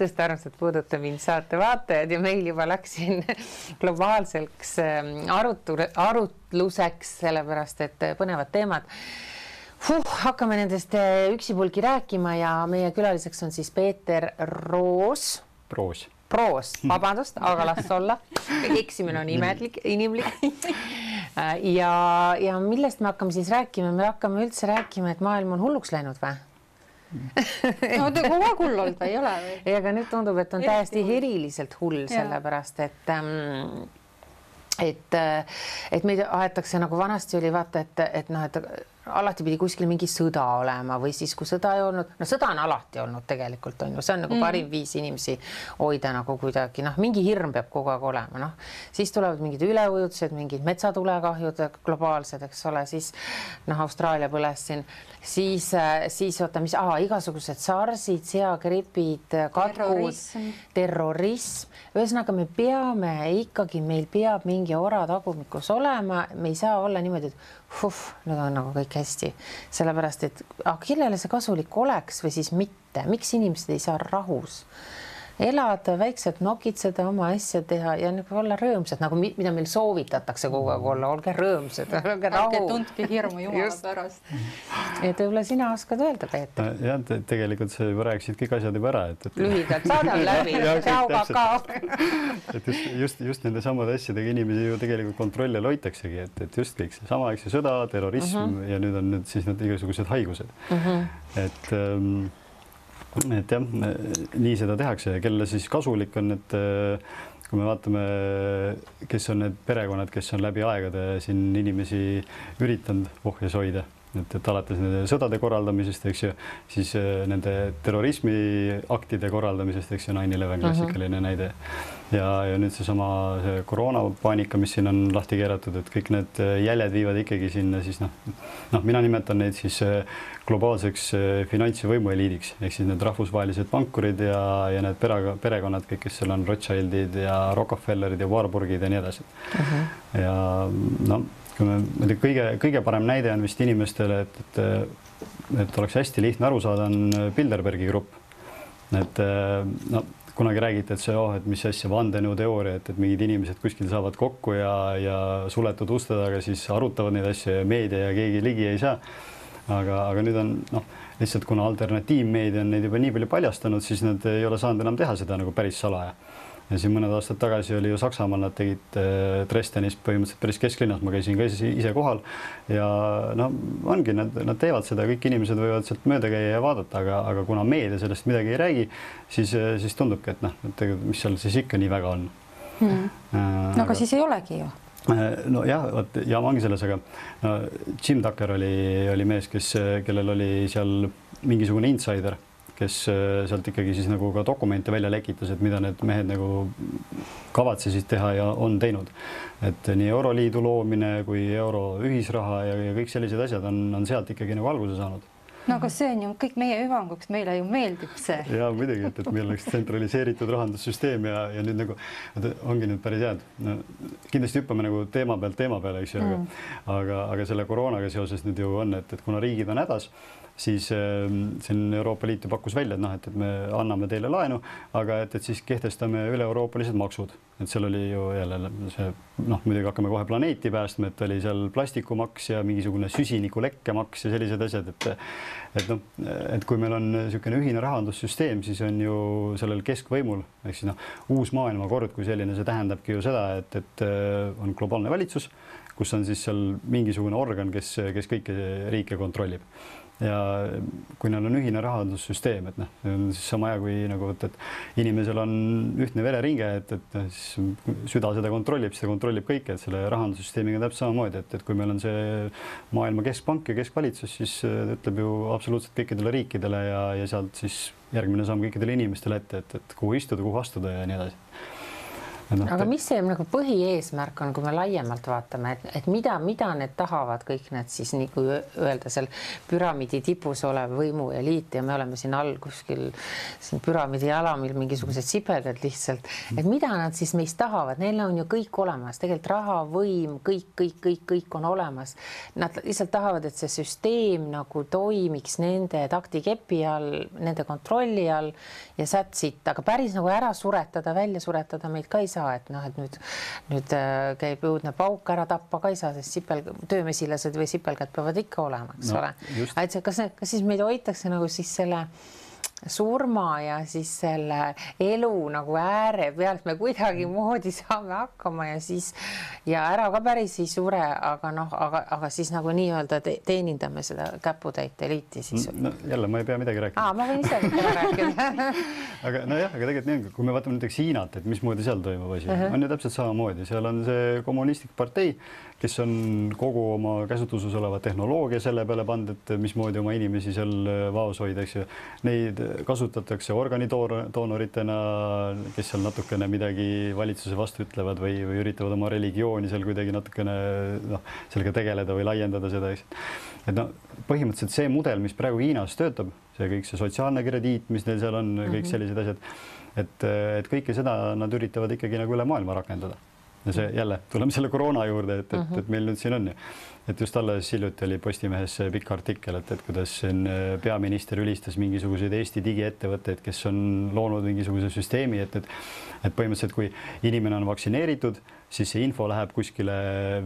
tõesti armsad puuduta mind saate vaatajad ja meil juba läks siin globaalseks arutluseks, sellepärast et põnevad teemad. Hakkame nendest üksipulgi rääkima ja meie külaliseks on siis Peeter Proos, vabandust, aga las olla. Eksimine on inimlik. Ja millest me hakkame siis rääkima? Me hakkame üldse rääkima, et maailm on hulluks läinud või? No te kogu aeg hull olnud või ei ole või? Ja aga nüüd tundub, et on täiesti eriliselt hull, sellepärast, et meid aetakse nagu vanasti oli vaata, et alati pidi kuskil mingi sõda olema või siis kui sõda ei olnud, no sõda on alati olnud tegelikult on ju, see on nagu parim viis inimesi hoida nagu kuidagi, mingi hirm peab kogu aeg olema, siis tulevad mingid üleujutused, mingid metsatulekahjud globaalsed, eks ole, siis Austraalia põles siin, siis oota, igasugused sarsid, seagripid, katkud, terrorism, ühesõnaga me peame ikkagi, meil peab mingi ora tagumikus olema, me ei saa olla niimoodi, et nüüd on nagu kõik hästi, sellepärast, et kellele see kasulik oleks või siis mitte, miks inimesed ei saa rahus elada, väikselt nokitseda, oma asja teha ja nagu olla rõõmsad, nagu mida meil soovitatakse kogu aeg olla, olge rõõmsad, olge rahu. Ärge tundke hirmu jumala pärast. Et võib-olla sina oskad öelda, Peeter? Ja, tegelikult sa juba rääkisid kõik asjad juba ära. Lühidalt, saadam läbi, tšau, kakao. Just nende samade asjadega inimesi ju tegelikult kontrolli all hoitaksegi, et just kõik see sama, eks sõda, terrorism ja nüüd on siis need igasugused haigused. Et jah, nii seda tehakse ja kelle siis kasulik on, et kui me vaatame, kes on need perekonnad, kes on läbi aegade siin inimesi üritanud ohjes hoida, et alates nende sõdade korraldamisest, eks ju, siis nende terrorismiaktide korraldamisest, eks ju, 9/11 klassikaline näide. Ja nüüd see koroonapaanika, mis siin on lahti keeratud, et kõik need jäljed viivad ikkagi sinna siis mina nimetan neid siis globaalseks finants- ja võimueliidiks, ehk siis need rahvusvahelised pankurid ja need perekonnad, kõik, kes seal on Rothschildid ja Rockefellerid ja Warburgid ja nii edasi. Ja kõige parem näide on vist inimestele, et oleks hästi lihtne aru saada, on Bilderbergi grupp. Kunagi räägiti, et mis asja vandenõuteooria, et mingid inimesed kuskil saavad kokku ja suletud uste taga siis arutavad neid asju ja meedia ja keegi ligi ei saa. Aga nüüd on lihtsalt, kuna alternatiivmeedia on neid juba nii palju paljastanud, siis nad ei ole saanud enam teha seda nagu päris salaja. Ja siin mõned aastad tagasi oli ju Saksamaal, nad tegid Dresdenis põhimõtteliselt päris kesklinnas, ma käisin ka ise kohal ja ongi, nad teevad seda, kõik inimesed võivad sealt mööda käia ja vaadata, aga kuna meedia sellest midagi ei räägi, siis tundubki, et mis seal siis ikka nii väga on. Aga siis ei olegi ju. No jah, jama ongi selles, aga Jim Tucker oli mees, kellel oli seal mingisugune insider, kes sealt ikkagi siis nagu ka dokumente välja lekitas, et mida need mehed nagu kavatsesid teha ja on teinud. Et nii Euroliidu loomine kui euro ühisraha ja kõik sellised asjad on sealt ikkagi nagu alguse saanud. No aga see on ju kõik meie hüvanguks, meile ju meeldib see. Ja muidugi, et meil oleks tsentraliseeritud rahandussüsteem ja nüüd nagu ongi nüüd päris head. Kindlasti hüppame nagu teema peale, eks ju, aga selle koroonaga seoses nüüd ju on, et kuna riigid on hädas, siis siin Euroopa Liit pakkus välja, et me anname teile laenu, aga et siis kehtestame üle-euroopalised maksud. Et seal oli ju jälle see, muidugi hakkame kohe planeeti päästma, et oli seal plastikumaks ja mingisugune süsinikulekkemaks ja sellised asjad, et kui meil on niisugune ühine rahandussüsteem, siis on ju sellel keskvõimul, ehk siis uus maailmakord kui selline, see tähendabki ju seda, et on globaalne valitsus, kus on siis seal mingisugune organ, kes kõiki riike kontrollib. Ja kui neil on ühine rahandussüsteem, et on siis sama aja, kui nagu, et inimesel on ühtne vereringe, et süda seda kontrollib, siis ta kontrollib kõike, et selle rahandussüsteemiga täpselt samamoodi, et kui meil on see maailma keskpank ja keskvalitsus, siis ütleb ju absoluutselt kõikidele riikidele ja sealt siis järgmine samm kõikidele inimestele ette, et kuhu istuda, kuhu astuda ja nii edasi. Aga mis see nagu põhieesmärk on, kui me laiemalt vaatame, et mida need tahavad kõik need siis, nii kui öelda seal püramiidi tipus olev võimueliit ja me oleme siin all kuskil siin püramiidi alamil mingisugused sipelgad lihtsalt, et mida nad siis meist tahavad, neil on ju kõik olemas, tegelikult raha, võim, kõik on olemas. Nad lihtsalt tahavad, et see süsteem nagu toimiks nende taktikepi all, nende kontrolli all ja sätsid, aga päris nagu ära suretada, välja suretada meid ka ei saa. Et noh, et nüüd käib õudne pauk, ära tappa ka ei saa, sest töömesilased või sipelgad peavad ikka olema, eks ole. Et kas siis meid hoitakse nagu siis selle surma ja siis selle elu nagu ääre pealt me kuidagi moodi saame hakkama ja siis ja ära ka päris ei sure, aga siis nagu nii-öelda teenindame seda käputäit eliiti siis. No, jälle, ma ei pea midagi rääkida. Ma võin ise rääkida. aga nojah, aga tegelikult nii, kui me vaatame näiteks Hiinat, et mismoodi seal toimub asi, on ju täpselt samamoodi, seal on see kommunistlik partei, kes on kogu oma käsutuses oleva tehnoloogia selle peale pannud, et mismoodi oma inimesi seal vaos hoida, eks ju. Neid kasutatakse organidoonoritena, kes seal natukene midagi valitsuse vastu ütlevad või üritavad oma religiooni seal kuidagi natukene sellega tegeleda või laiendada seda, eks. Et põhimõtteliselt see mudel, mis praegu Hiinas töötab, see kõik see sotsiaalne krediit, mis neil seal on, kõik sellised asjad, et kõike seda nad üritavad ikkagi nagu üle maailma rakendada. Ja see jälle, tuleme selle koroona juurde, et meil nüüd siin on ju. Et just alles hiljuti oli Postimehes pikk artikkel, et kuidas peaminister ülistas mingisuguseid Eesti digiettevõtteid, kes on loonud mingisuguse süsteemi, et põhimõtteliselt kui inimene on vaktsineeritud, siis see info läheb kuskile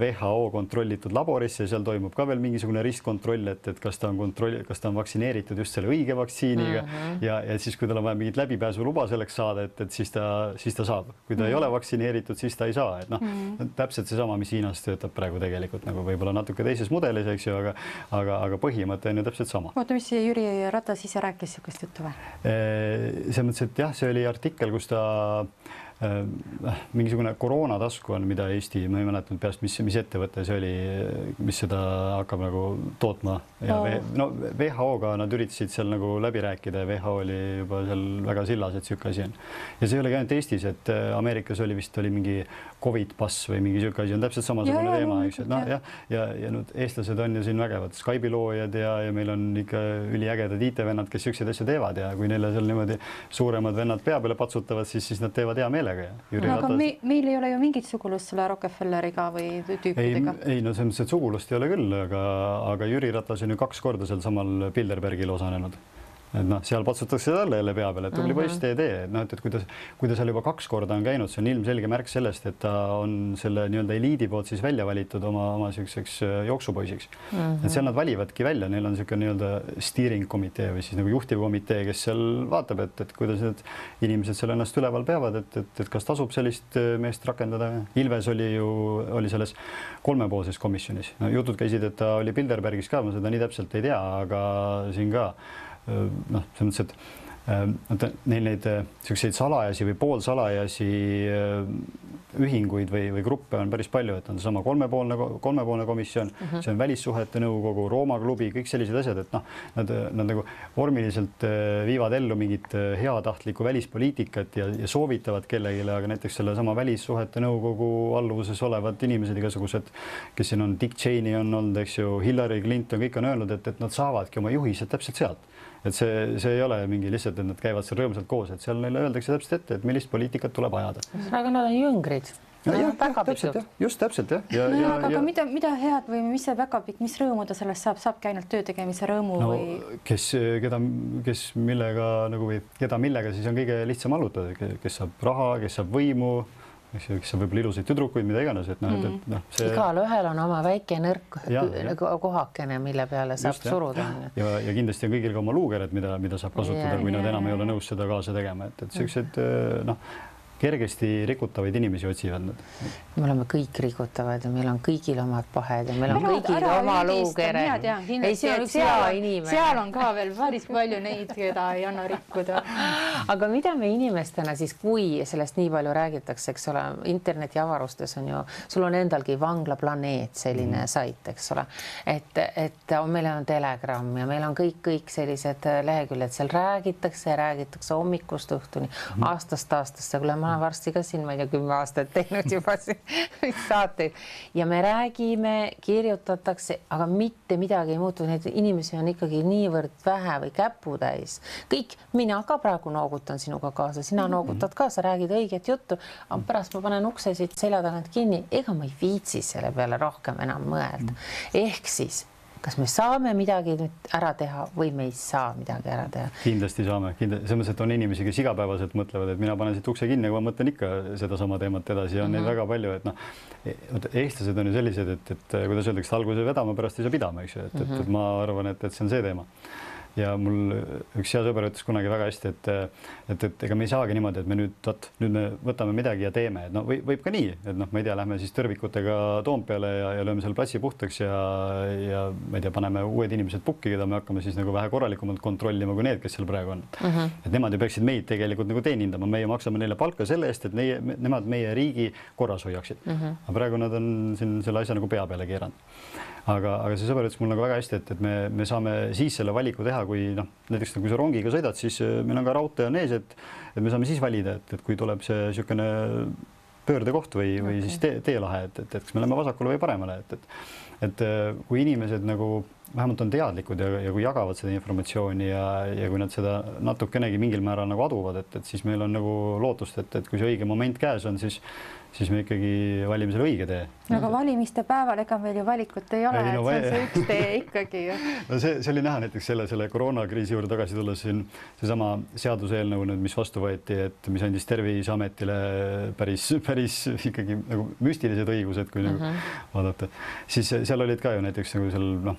WHO kontrollitud laborisse ja seal toimub ka veel mingisugune ristkontroll, et kas ta on vaktsineeritud just selle õige vaktsiiniga ja siis, kui tal on vaja mingit läbipääsuluba selleks saada, et siis ta saab. Kui ta ei ole vaktsineeritud, siis ta ei saa. Et täpselt seesama, mis Hiinas töötab praegu tegelikult nagu võib-olla natuke teises mudelis, eks ju, aga põhimõte on ju täpselt sama. Oota, mis Jüri Ratas ise rääkis sihukest juttu või? See mõttes, et jah, see oli artikkel, kus ta mingisugune koroonatasku on, mida Eesti, ma ei mäletanud peast, mis ettevõte see oli, mis seda hakkab nagu tootma ja WHO-ga nad üritasid seal nagu läbi rääkida ja WHO oli juba seal väga sillas, et sihuke asi on. Ja see ei ole ka ainult Eestis, et Ameerikas oli mingi Covid pass või mingi sihuke asi on täpselt samasugune teema, eks. Ja nüüd eestlased on ju siin vägevad Skype'i loojad ja meil on ikka üliägedad IT-vennad, kes siuksed asju teevad ja kui neile seal niimoodi suuremad vennad pea peale patsutavad, siis nad teevad hea meelega. Aga meil ei ole ju mingit sugulust selle Rockefelleriga või tüüpidega. Ei, no see mõttes, et sugulust ei ole küll, aga Jüri Ratas on ju 2 korda seal samal Bilderbergil osanenud. Et seal patsutakse talle jälle pea peale, et tubli poiss tee. Et kui ta seal juba 2 korda on käinud, see on ilmselge märk sellest, et ta on selle nii-öelda eliidi poolt siis välja valitud oma siukseks jooksupoisiks. Et seal nad valivadki välja, neil on siuke nii-öelda steering komitee või siis nagu juhtivkomitee, kes seal vaatab, et kuidas need inimesed seal ennast üleval peavad, et kas tasub sellist meest rakendada. Ilves oli selles 3-poolses komisjonis. Jutud käisid, et ta oli Bilderbergis ka, ma seda nii täpselt ei tea, aga siin ka selles mõttes, et neil neid selliseid salajasi või poolsalajasi ühinguid või gruppe on päris palju, et on sama kolmepoolne komisjon, see on välissuhete nõukogu, Rooma klubi, kõik sellised asjad, et nad nagu vormiliselt viivad ellu mingit heatahtlikku välispoliitikat ja soovitavad kellegile, aga näiteks selle sama välissuhete nõukogu alluvuses olevad inimesed igasugused, kes siin on, Dick Cheney on olnud, eks ju, Hillary Clinton, kõik on öelnud, et nad saavadki oma juhised täpselt sealt. Et see ei ole mingi lihtsalt, et nad käivad seal rõõmsalt koos, et seal neile öeldakse täpselt ette, et millist poliitikat tuleb ajada. Aga nad on jüngrid. Just täpselt, jah. Aga mida head või mis see päkapikk, mis rõõmu ta sellest saabki ainult töö tegemise rõõmu või? Kes millega nagu või keda millega siis on kõige lihtsam allutada, kes saab raha, kes saab võimu, kes saab võib-olla ilusaid tüdrukuid, mida iganes, et see... Igal ühel on oma väike nõrk kohakene, mille peale saab suruda. Ja kindlasti on kõigil ka oma luugered, mida saab kasutada, kui nad enam ei ole nõus seda kaasa tegema, et sellised kergesti rikutavaid inimesi otsivad nad. Me oleme kõik rikutavad ja meil on kõigil omad pahed ja meil on kõigil oma luukered. Seal on ka veel päris palju neid, keda ei anna rikkuda. Aga mida me inimestena siis, kui sellest nii palju räägitakse, eks ole, interneti avarustes on ju, sul on endalgi Vanglaplaneet selline sait, eks ole, et meil on Telegram ja meil on kõik sellised leheküljed, seal räägitakse hommikust õhtuni, aastast aastasse, kui ma olen varsti ka siin, ma ei tea, 10 aastat teinud juba saateid ja me räägime, kirjutatakse, aga mitte midagi ei muutu. Neid inimesi on ikkagi niivõrd vähe või käputäis. Kõik, mina ka praegu noogutan sinuga kaasa, sina noogutad kaasa, räägid õiget juttu, aga pärast ma panen ukse siit selja tagant kinni. Ega ma ei viitsi selle peale rohkem enam mõelda. Ehk siis kas me saame midagi nüüd ära teha või me ei saa midagi ära teha? Kindlasti saame. Selles mõttes, et on inimesi, kes igapäevaselt mõtlevad, et mina panen siit ukse kinni, aga ma mõtlen ikka sedasama teemat edasi ja on neid väga palju, et eestlased on ju sellised, et kuidas öeldakse, alguse vedama, pärast ei saa pidama, eks ju, et ma arvan, et see on see teema. Ja mul üks hea sõber ütles kunagi väga hästi, et ega me ei saagi niimoodi, et me nüüd me võtame midagi ja teeme, et võib ka nii, et ma ei tea, lähme siis tõrvikutega Toompeale ja lööme selle platsi puhtaks ja ma ei tea, paneme uued inimesed pukki, keda me hakkame siis nagu vähe korralikumalt kontrollima kui need, kes seal praegu on. Et nemad ju peaksid meid tegelikult nagu teenindama, meie maksame neile palka selle eest, et nemad meie riigi korras hoiaksid. Aga praegu nad on siin selle asja nagu pea peale keeranud. Aga see sõber ütles mul nagu väga hästi, et me saame siis selle valiku teha, kui näiteks kui sa rongiga sõidad, siis meil on ka raudtee on ees, et me saame siis valida, et kui tuleb see niisugune pöördekoht või siis teelahe, et kas me läheme vasakule või paremale, et kui inimesed nagu vähemalt on teadlikud ja kui jagavad seda informatsiooni ja kui nad seda natukenegi mingil määral nagu aduvad, et siis meil on nagu lootust, et kui see õige moment käes on, siis me ikkagi valime selle õige tee. Aga valimiste päeval ega meil ju valikut ei ole, et see on see üks tee ikkagi. No see oli näha näiteks selle koroonakriisi juurde tagasi tulles siin seesama seaduseelnõu nüüd, mis vastu võeti, et mis andis Terviseametile päris ikkagi nagu müstilised õigused, kui nagu vaadata. Siis seal olid ka ju näiteks nagu seal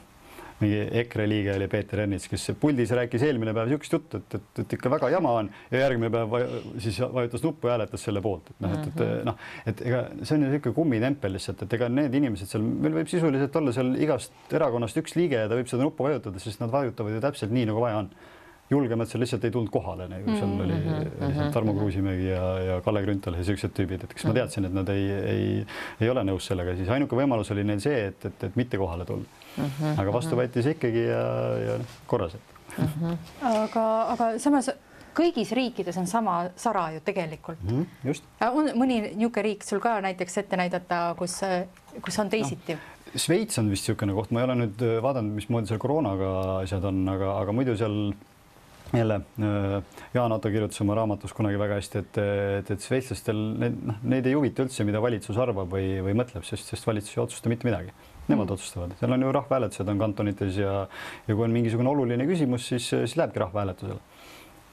mingi EKRE liige oli Peeter Ernits, kes puldis rääkis eelmine päev niisugust juttu, et ikka väga jama on ja järgmine päev siis vajutas nuppu ja hääletas selle poolt. Et ega see on ju niisugune kummitempel lihtsalt, et ega need inimesed seal, meil võib sisuliselt olla seal igast erakonnast üks liige ja ta võib seda nuppu vajutada, sest nad vajutavad ju täpselt nii, nagu vaja on. Julgemad seal lihtsalt ei tulnud kohale, nagu seal oli Tarmo Kruusimägi ja Kalle Grünthal ja sellised tüübid, et kas ma teadsin, et nad ei ole nõus sellega, siis ainuke võimalus oli neil see, et mitte kohale tulla. Aga vastu võeti see ikkagi ja korras. Aga samas kõigis riikides on sama sara ju tegelikult. Just. On mõni niisugune riik sul ka näiteks ette näidata, kus on teisiti? Šveits on vist niisugune koht, ma ei ole nüüd vaadanud, mismoodi seal koroonaga asjad on, aga muidu seal jälle Jaan Otto kirjutas oma raamatus kunagi väga hästi, et šveitslastel neid ei huvita üldse, mida valitsus arvab või mõtleb, sest valitsus ei otsusta mitte midagi. Nemad otsustavad. Seal on ju rahvahääletused on kantonites ja kui on mingisugune oluline küsimus, siis lähebki rahvahääletusele.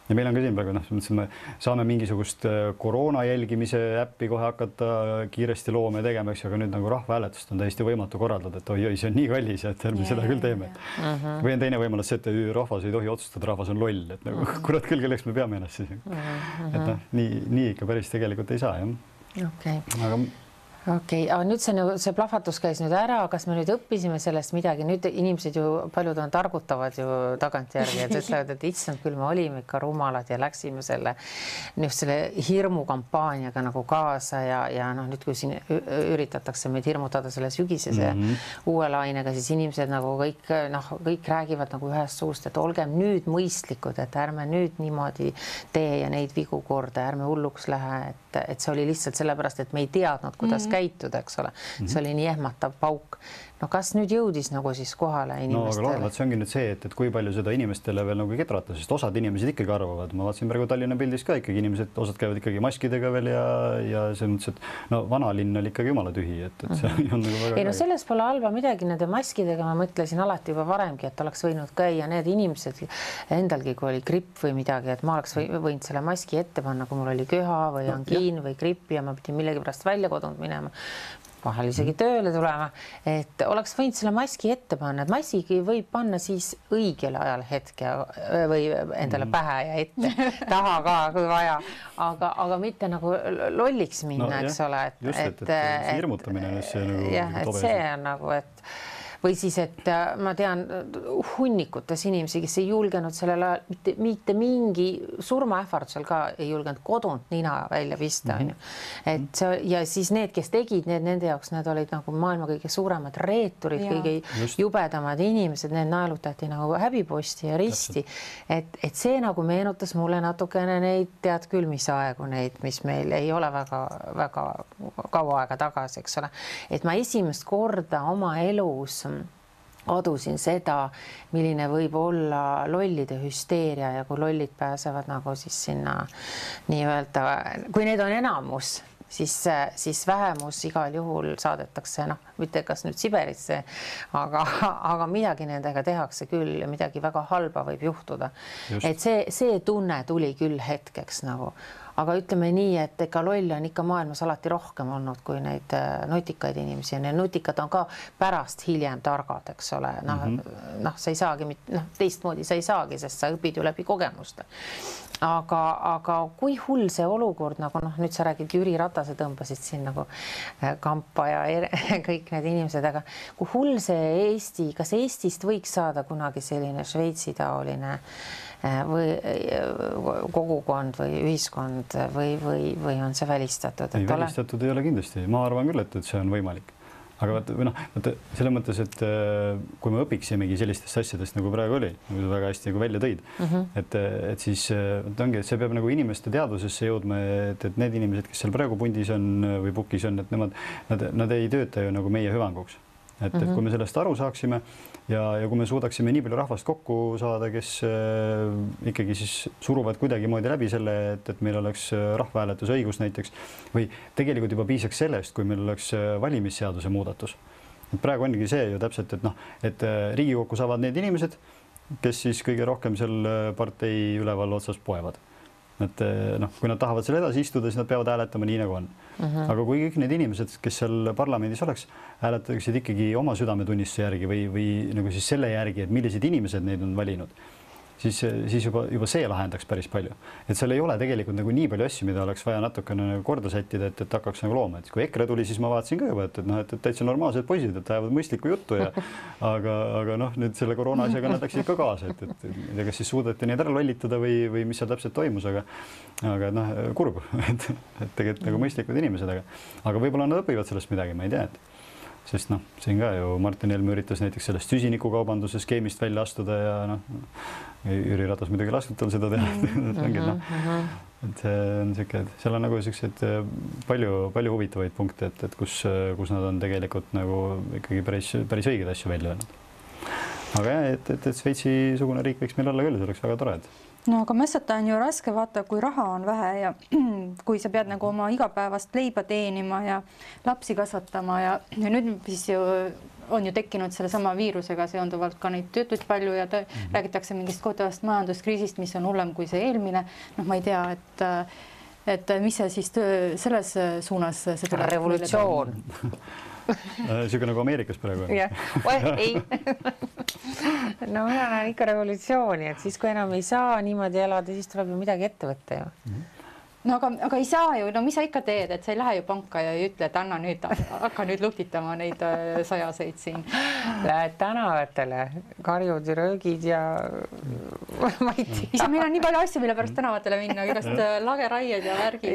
Ja meil on ka siin praegu, me saame mingisugust koroona jälgimise äppi kohe hakata kiiresti loome tegema, aga nüüd nagu rahvahääletust on täiesti võimatu korraldada, et oi, see on nii kallis, et ärme seda küll teeme. Või on teine võimalus see, et rahvas ei tohi otsustada, rahvas on loll, et nagu kurat küll, kelleks me peame ennast siis. Et nii ikka päris tegelikult ei saa, jah. Okei, aga nüüd see plahvatus käis nüüd ära, kas me nüüd õppisime sellest midagi, nüüd inimesed ju paljud on targutavad ju tagantjärgi, et ütlevad, et issand, küll me olime ikka rumalad ja läksime selle hirmukampaaniaga nagu kaasa ja nüüd kui siin üritatakse meid hirmutada selle sügisese uue lainega, siis inimesed nagu kõik räägivad nagu ühest suust, et olgem nüüd mõistlikud, et ärme nüüd niimoodi tee ja neid vigu korda, ärme hulluks lähe, et see oli lihtsalt sellepärast, et me ei teadnud, kuidas käituda, eks ole. See oli nii ehmatav pauk. No kas nüüd jõudis nagu siis kohale inimestele? No aga see ongi nüüd see, et kui palju seda inimestele veel nagu ketrata, sest osad inimesed ikkagi arvavad. Ma vaatasin praegu Tallinna pildis ka ikkagi inimesed, osad käivad ikkagi maskidega veel ja see mõttes, et vanalinn oli ikkagi jumala tühi, et see on nagu väga... Ei, no selles pole halba midagi nende maskidega, ma mõtlesin alati juba varemgi, et oleks võinud käia need inimesed endalgi, kui oli gripp või midagi, et ma oleks võinud selle maski ette panna, kui mul oli köha või angiin või grippi ja ma pidin millegi pärast välja kodunud minema. Vahel isegi tööle tulema, et oleks võinud selle maski ette panna, et massigi võib panna siis õigel ajal hetke või endale pähe ja ette, taha ka, kui vaja, aga mitte nagu lolliks minna, eks ole. Just, et see hirmutamine on see nagu jah, et see on nagu, et või siis, et ma tean hunnikutes inimesi, kes ei julgenud sellel ajal mitte mingi surmaähvardusel ka ei julgenud kodunt nina välja pista, on ju. Et see, ja siis need, kes tegid nende jaoks, need olid nagu maailma kõige suuremad reeturid, kõige jubedamad inimesed, need naelutati nagu häbiposti ja risti. Et see nagu meenutas mulle natukene neid, tead küll, mis aegu neid, mis meil ei ole väga kaua aega tagasi, eks ole. Et ma esimest korda oma elus adusin seda, milline võib olla lollide hüsteeria ja kui lollid pääsevad nagu siis sinna nii-öelda, kui need on enamus, siis vähemus igal juhul saadetakse, mitte kas nüüd Siberisse, aga midagi nendega tehakse küll ja midagi väga halba võib juhtuda. Et see tunne tuli küll hetkeks nagu. Aga ütleme nii, et ega lolle on ikka maailmas alati rohkem olnud kui neid nutikaid inimesi ja need nutikad on ka pärast hiljem targad, eks ole. Sa ei saagi, teistmoodi sa ei saagi, sest sa õpid ju läbi kogemuste. Aga kui hull see olukord, nagu nüüd sa räägid, Jüri Ratase tõmbasid siin nagu kampa ja kõik need inimesed, aga kui hull see Eesti, kas Eestist võiks saada kunagi selline Šveitsi taoline või kogukond või ühiskond või on see välistatud? Ei, välistatud ei ole kindlasti. Ma arvan küll, et see on võimalik. Aga selles mõttes, et kui me õpiksimegi sellistest asjadest, nagu praegu oli, nagu väga hästi välja tõid, et siis ongi, et see peab nagu inimeste teadvusesse jõudma, et need inimesed, kes seal praegu pundis on või pukis on, et nad ei tööta ju nagu meie hüvanguks. Et kui me sellest aru saaksime ja kui me suudaksime nii palju rahvast kokku saada, kes ikkagi siis suruvad kuidagimoodi läbi selle, et meil oleks rahvahääletuse õigus näiteks või tegelikult juba piisaks sellest, kui meil oleks valimisseaduse muudatus. Et praegu ongi see ju täpselt, et Riigikokku saavad need inimesed, kes siis kõige rohkem seal partei üleval otsas poevad. Et kui nad tahavad seal edasi istuda, siis nad peavad hääletama nii nagu on. Aga kui kõik need inimesed, kes seal parlamendis oleks, hääletaksid ikkagi oma südametunnistuse järgi või nagu siis selle järgi, et millised inimesed neid on valinud, siis juba see lahendaks päris palju. Et seal ei ole tegelikult nagu nii palju asju, mida oleks vaja natukene korda sättida, et hakkaks nagu looma. Et kui EKRE tuli, siis ma vaatasin ka juba, et täitsa normaalsed poisid, et ajavad mõistlikku juttu ja aga nüüd selle koroona asjaga nad läksid ka kaasa, et kas siis suudeti neid ära lollitada või mis seal täpselt toimus, aga kurb, et tegelikult nagu mõistlikud inimesed, aga võib-olla nad õpivad sellest midagi, ma ei tea, sest siin ka ju Martin Helme üritas näiteks sellest süsinikukaubanduse skeemist välja astuda ja Jüri Ratas muidugi lasknud tal seda teha. Et see on siuke, et seal on nagu siuksed palju huvitavaid punkte, et kus nad on tegelikult nagu ikkagi päris õiged asju välja öelnud. Aga et Šveitsi-sugune riik võiks meil olla küll, see oleks väga tore. No aga mõistata on ju raske, vaata, kui raha on vähe ja kui sa pead nagu oma igapäevast leiba teenima ja lapsi kasvatama ja nüüd siis ju on ju tekkinud selle sama viirusega seonduvalt ka neid töötuid palju ja räägitakse mingist kohutavast majanduskriisist, mis on hullem kui see eelmine. Ma ei tea, et mis see siis selles suunas see tuleb? Revolutsioon. Siuke nagu Ameerikas praegu. Ei. No mina näen ikka revolutsiooni, et siis kui enam ei saa niimoodi elada, siis tuleb ju midagi ette võtta ju. No aga ei saa ju, no mis sa ikka teed, et sa ei lähe ju panka ja ei ütle, et hakka nüüd luhtitama neid sajaseid siin. Lähed tänavatele, karjud ja röögid ja ma ei tea. Isa, meil on nii palju asju, mille pärast tänavatele minna, igast lageraied ja värgid.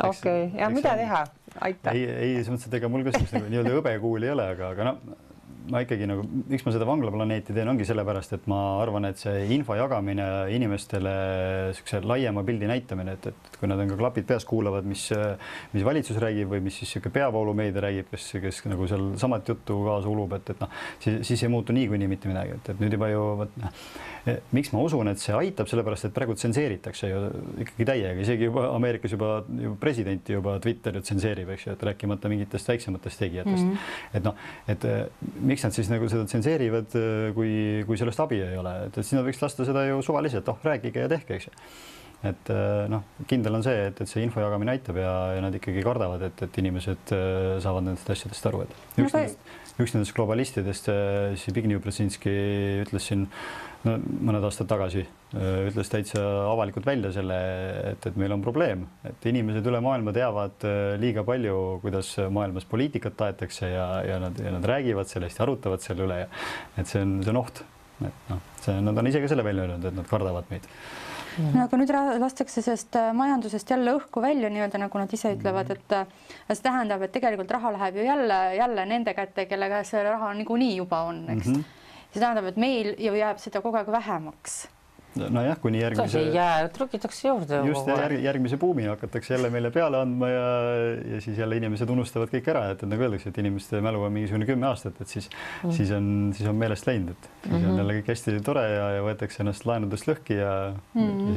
Okei, ja mida teha? Aitäh. Ei, selles mõttes, et ega mul kas nii-öelda hõbekuul ei ole, aga ma ikkagi nagu, miks ma seda vanglaplaneeti teen, ongi sellepärast, et ma arvan, et see info jagamine inimestele sükse laiema pildi näitamine, et kui nad on ka klapid peas kuulavad, mis valitsus räägib või mis siis siuke peavoolumeedia räägib, kes nagu seal samat juttu kaasa ulub, et siis ei muutu niikuinii mitte midagi, et nüüd juba ju miks ma usun, et see aitab, sellepärast, et praegu tsenseeritakse ju ikkagi täiega, isegi juba Ameerikas juba presidenti juba Twitter tsenseerib, eks ju, et rääkimata mingitest väiksematest tegijatest. Et miks nad siis nagu seda tsenseerivad, kui sellest abi ei ole, et siis nad võiks lasta seda ju suvaliselt, rääkige ja tehke, eks ju. et noh, kindel on see, et see info jagamine aitab ja nad ikkagi kardavad, et inimesed saavad nendest asjadest aru, et üks nendest globalistidest, Zbigniew Brzezinski ütles siin mõned aastad tagasi, ütles täitsa avalikult välja selle, et meil on probleem, et inimesed üle maailma teavad liiga palju, kuidas maailmas poliitikat taetakse ja nad räägivad sellest ja arutavad selle üle ja et see on oht. Et noh, nad on ise ka selle välja öelnud, et nad kardavad meid. No, aga nüüd lastakse sellest majandusest jälle õhku välja nii-öelda, nagu nad ise ütlevad, et see tähendab, et tegelikult raha läheb ju jälle nende kätte, kelle käes see raha niikuinii juba on, eks. See tähendab, et meil ju jääb seda kogu aeg vähemaks. Nojah, kuni järgmise... Trükitakse juurde. Just järgmise buumi hakatakse jälle meile peale andma ja siis jälle inimesed unustavad kõik ära, et nagu öeldakse, et inimeste mälu on mingisugune 10 aastat, et siis on meelest läinud, et siis on jälle kõik hästi tore ja võetakse ennast laenudest lõhki ja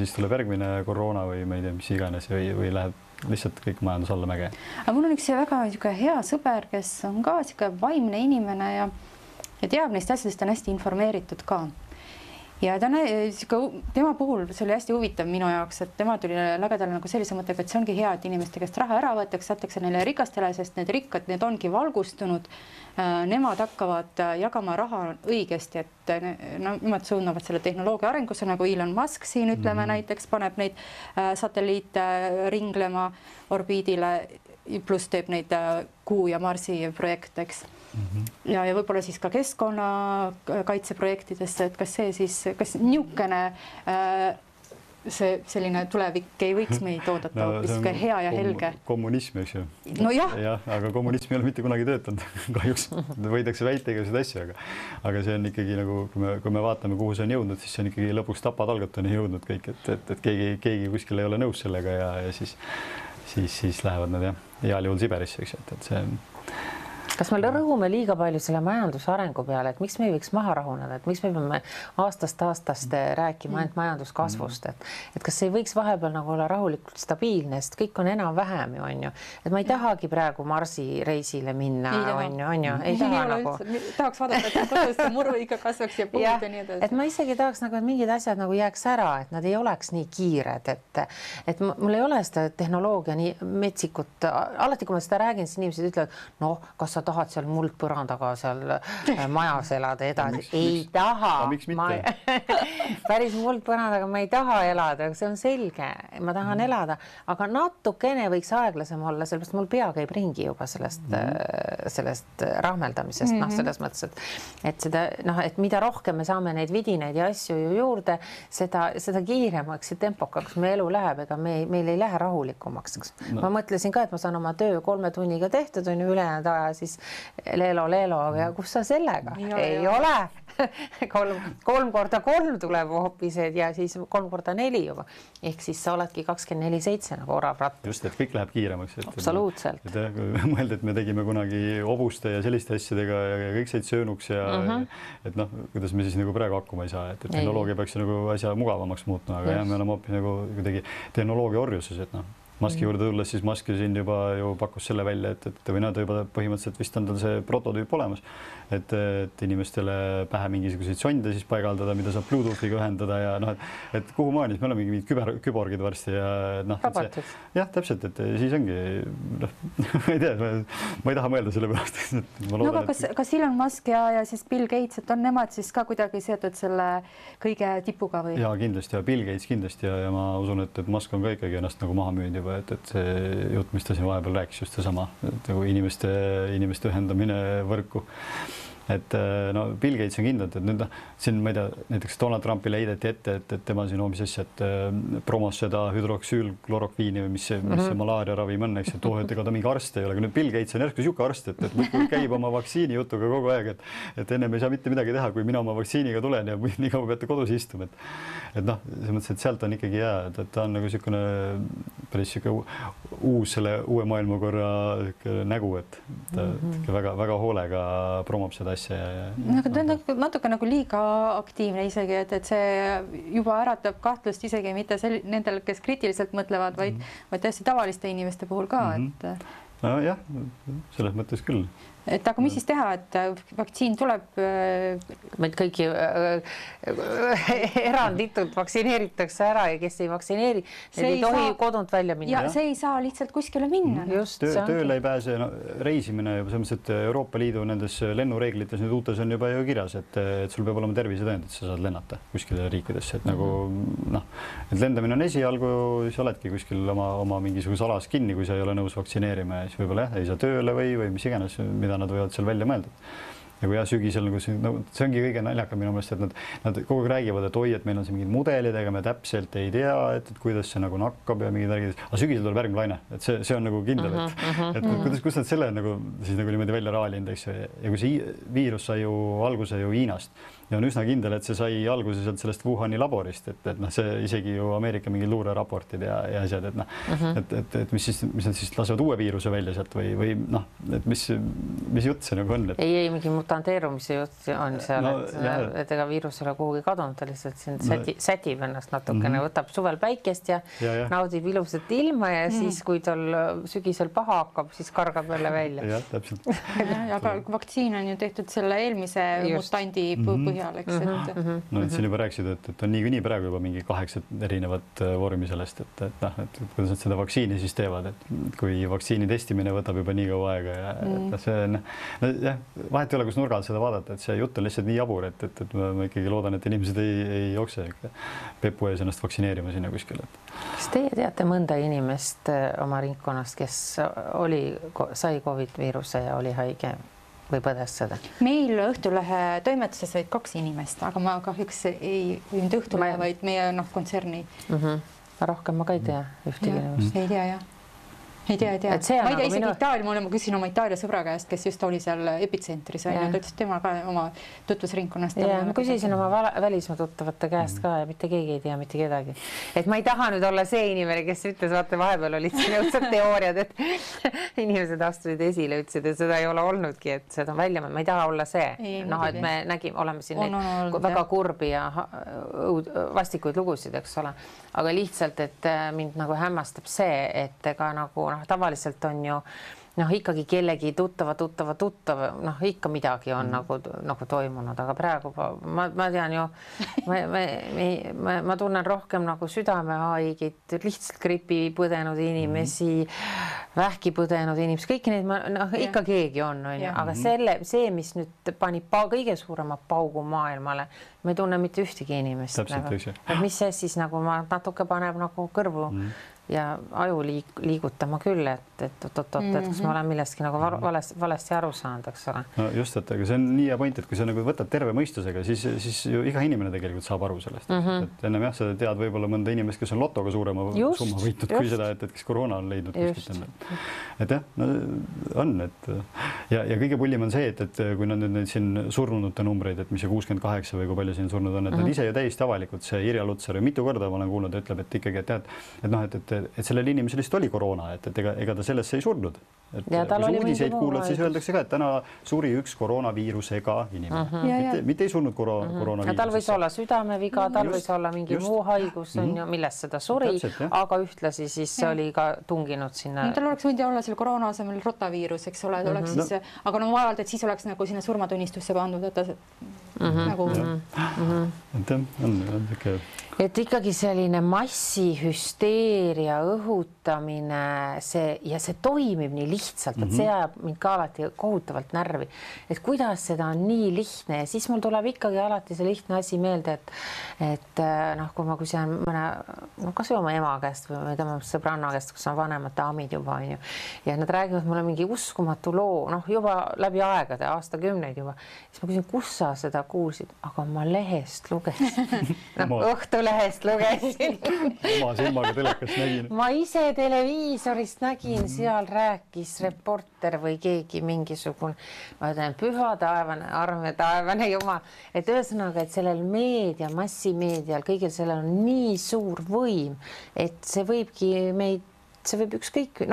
siis tuleb järgmine koroona või ma ei tea, mis iganes või läheb lihtsalt kõik majandus alla mäge. Aga mul on üks väga hea sõber, kes on ka vaimne inimene ja teab neist asjadest, on hästi informeeritud ka. Ja tema puhul see oli hästi huvitav minu jaoks, et tema tuli lagedale nagu sellise mõttega, et see ongi hea, et inimeste käest raha ära võetakse, satakse neile rikastele, sest need rikkad, need ongi valgustunud. Nemad hakkavad jagama raha õigesti, et nemad suunavad selle tehnoloogia arengusse, nagu Elon Musk siin ütleme näiteks, paneb neid satelliite ringlema orbiidile, pluss teeb neid Kuu ja Marsi projekte, eks. Ja võib-olla siis ka keskkonnakaitseprojektidesse, et kas niisugune see selline tulevik ei võiks meid oodata hoopis hea ja helge? Kommunism, eks ju. No jah. Aga kommunism ei ole mitte kunagi töötanud. Kahjuks võidakse väita igasuguseid asju, aga see on ikkagi nagu, kui me vaatame, kuhu see on jõudnud, siis see on ikkagi lõpuks tapatalgatuni jõudnud kõik, et keegi kuskil ei ole nõus sellega ja siis lähevad nad heal juhul Siberisse, eks, et see on... Kas me rõhume liiga palju selle majandusarengu peale, et miks me ei võiks maha rahuneda, et miks me peame aastast rääkima ainult majanduskasvust, et kas ei võiks vahepeal nagu olla rahulikult stabiilne, sest kõik on enam-vähem ju, on ju. Et ma ei tahagi praegu Marsi reisile minna, on ju. Ei taha nagu... Tahaks vaadata, et kodus muru ikka kasvaks ja puud ja nii edasi. Et ma isegi tahaks nagu, et mingid asjad nagu jääks ära, et nad ei oleks nii kiired, et mul ei ole seda tehnoloogia nii metsikut. Alati, kui ma seda räägin, siis inimesed ütlevad, no, kas sa tahad seal muldpõrandaga seal majas elada edasi. Ei taha. Miks mitte? Päris muldpõrandaga ma ei taha elada, see on selge. Ma tahan elada, aga natukene võiks aeglasem olla, sellepärast mul pea käib ringi juba sellest rahmeldamisest, selles mõttes, et seda, et mida rohkem me saame neid vidineid ja asju juurde, seda kiiremaks ja tempokaks me elu läheb, ega meil ei lähe rahulikumaks. Ma mõtlesin ka, et ma saan oma töö 3 tunniga tehtud, on ju ülejäänud aja, siis leelo, ja kus sa sellega? Ei ole. 3x3 tuleb hoopis ja siis 3x4 juba. Ehk siis sa oledki 24/7 nagu oravratt. Just, et kõik läheb kiiremaks. Absoluutselt. Mõelda, et me tegime kunagi hobuste ja selliste asjadega ja kõik said söönuks ja et noh, kuidas me siis nagu praegu hakkuma ei saa, et tehnoloogia peaks nagu asja mugavamaks muutma, aga jah, me oleme hoopis nagu kuidagi tehnoloogia orjuses, et noh. Maski juurde tulles, siis Maski siin juba ju pakkus selle välja, et või nad juba põhimõtteliselt vist on tal see prototüüp olemas, et inimestele pähe mingisuguseid sonde siis paigaldada, mida saab Bluetoothiga ühendada ja noh, et kuhu maani, me oleme mingid küborgid varsti ja noh, jah, täpselt, et siis ongi, ma ei tea, ma ei taha mõelda selle pärast. No aga kas Elon Musk ja siis Bill Gates, et on nemad siis ka kuidagi seotud selle kõige tipuga või? Ja kindlasti ja Bill Gates kindlasti ja ma usun, et Musk on ka ikkagi ennast nagu maha müünud juba, et see jutt, mis ta siin vahepeal rääkis, just seesama, et nagu inimeste ühendamine võrku. Et no Bill Gates on kindlalt, et nüüd siin ma ei tea, näiteks Donald Trumpile heideti ette, et tema siin hoopis asja, et promos seda hüdroksüülklorokviini või mis see malaaria ravim on, eks, et ega ta mingi arst ei ole, aga nüüd Bill Gates on järsku siuke arst, et käib oma vaktsiini jutuga kogu aeg, et ennem ei saa mitte midagi teha, kui mina oma vaktsiiniga tulen ja nii kaua peate kodus istuma, et noh, selles mõttes, et sealt on ikkagi hea, et ta on nagu siukene päris siuke selle uue maailmakorra nägu, et ta väga hoolega promob seda asja. Aga ta on natuke nagu liiga aktiivne isegi, et see juba äratab kahtlust isegi mitte nendel, kes kriitiliselt mõtlevad, vaid täiesti tavaliste inimeste puhul ka. No jah, selles mõttes küll. et aga mis siis teha, et vaktsiin tuleb? Meid kõiki eranditult vaktsineeritakse ära ja kes ei vaktsineeri, need ei tohi kodunt välja minna. Ja see ei saa lihtsalt kuskile minna. Tööle ei pääse, reisimine juba selles mõttes, et Euroopa Liidu nendes lennureeglites nüüd uutes on juba ju kirjas, et sul peab olema tervisetõend, et sa saad lennata kuskile riikidesse, et nagu et lendamine on esialgu, siis oledki kuskil oma mingisuguse alas kinni, kui sa ei ole nõus vaktsineerima ja siis võib-olla ei saa tööle või mis iganes, mida nad võivad seal välja mõelda. Ja kui sügisel, see ongi kõige naljakam minu meelest, et nad kogu aeg räägivad, et oi, et meil on siin mingid mudelid, ega me täpselt ei tea, et kuidas see nagu nakkab ja mingid värgid, aga sügisel tuleb järgmine laine, et see on nagu kindel, et kus nad selle siis nagu niimoodi välja raalinud, eks ju, ja kui see viirus sai ju alguse ju Hiinast ja on üsna kindel, et see sai alguse sealt sellest Wuhani laborist, et see isegi ju Ameerika mingid luureraportid ja asjad, et mis nad siis lasevad uue viiruse välja sealt või et mis jutt see nagu on? Ei, mingi mutanteerumise jutt on seal, et ega viirus ei ole kuhugi kadunud, ta lihtsalt siin sätib ennast natukene, võtab suvel päikest ja naudib ilusat ilma ja siis, kui tal sügisel paha hakkab, siis kargab jälle välja. Jah, täpselt. Aga vaktsiin on ju tehtud selle eelmise mutandi põhjal, eks. No siin juba rääkisid, et on niikuinii praegu juba mingi 8 erinevat vormi sellest, et kuidas nad seda vaktsiini siis teevad, et kui vaktsiini testimine võtab juba nii kaua aega ja see vahet ei ole, kus nurgal seda vaadata, et see jutt on lihtsalt nii jabur, et ma ikkagi loodan, et inimesed ei jookse pepu ees ennast vaktsineerima sinna kuskil. Kas teie teate mõnda inimest oma ringkonnast, kes sai COVID-viiruse ja oli haige või põdes seda? Meil Õhtulehe toimetuses olid 2 inimest, aga ma kahjuks ei nüüd Õhtulehe, vaid meie kontserni. Rohkem ma ka ei tea ühtegi inimest. Ei tea, jah. Ei tea. Ma ei tea isegi Itaalia, ma küsin oma Itaalia sõbra käest, kes just oli seal epitsentris, ta ütles tema ka oma tutvusringkonnast. Ma küsisin oma välismaa tuttavate käest ka ja mitte keegi ei tea mitte kedagi. Et ma ei taha nüüd olla see inimene, kes ütles, vaata vahepeal olid siin õudsad teooriad, et inimesed astusid esile, ütlesid, et seda ei ole olnudki, et seda on välja, ma ei taha olla see. Et me oleme siin neid väga kurbi ja vastikuid lugusid, eks ole. Aga lihtsalt, et mind nagu hämmastab see, et ega nagu tavaliselt on ju ikkagi kellegi tuttava, ikka midagi on nagu toimunud, aga praegu ma tean ju, ma tunnen rohkem nagu südamehaigid, lihtsalt gripi põdenud inimesi, vähki põdenud inimesi, kõiki neid ikka keegi on, aga see, mis nüüd pani kõige suurema paugu maailmale, ma ei tunne mitte ühtegi inimest. Mis see siis nagu ma natuke paneb nagu kõrvu ja aju liigutama küll, et kas ma olen millestki nagu valesti aru saanud, eks ole. No just, et aga see on nii hea point, et kui sa nagu võtad terve mõistusega, siis ju iga inimene tegelikult saab aru sellest. Et ennem sa tead võib-olla mõnda inimest, kes on lotoga suurema summa võitnud kui seda, et kes koroona on leidnud. Et jah, on, et ja kõige pullim on see, et kui nad nüüd siin surnunute numbreid, et mis 68 või kui palju siin surnud on, et nad ise ju täiesti avalikult, see Irja Lutsar mitu korda ma olen kuulnud, ütleb, et ikkagi, et sellel inimesel lihtsalt oli koroona, et ega ta sellesse ei surnud. Kui uudiseid kuulad, siis öeldakse ka, et täna suri üks koroonaviirusega inimene. Mitte ei surnud koroonaviirusesse. Tal võis olla südameviga, tal võis olla mingi muu haigus, millest seda suri, aga ühtlasi siis oli ka tunginud sinna. Tal oleks võinud olla selle koroona asemel rotaviirus, eks ole, aga no vaevalt, et siis oleks nagu sinna surmatunnistusse pandud, et et ikkagi selline massihüsteeria õhutamine, see toimib nii lihtsalt, et see ajab mind ka alati kohutavalt närvi, et kuidas seda on nii lihtne ja siis mul tuleb ikkagi alati see lihtne asi meelde, et kui ma küsin kas või oma ema käest või tema sõbranna käest, kus on vanemate amid juba on ju, ja nad räägivad mulle mingi uskumatu loo, juba läbi aegade, aastakümneid juba, siis ma küsin, kus sa seda kuulsid, aga ma lehest lugesin, Õhtulehest lugesin. Oma silmaga telekast nägin. Ma ise televiisorist nägin, seal rääkis reporter või keegi mingisugune, ma ütlen, püha taevane, arme taevane jumal, et ühesõnaga, et sellel meedia, massimeedial, kõigil sellel on nii suur võim, et see võibki meid, see võib ükskõik,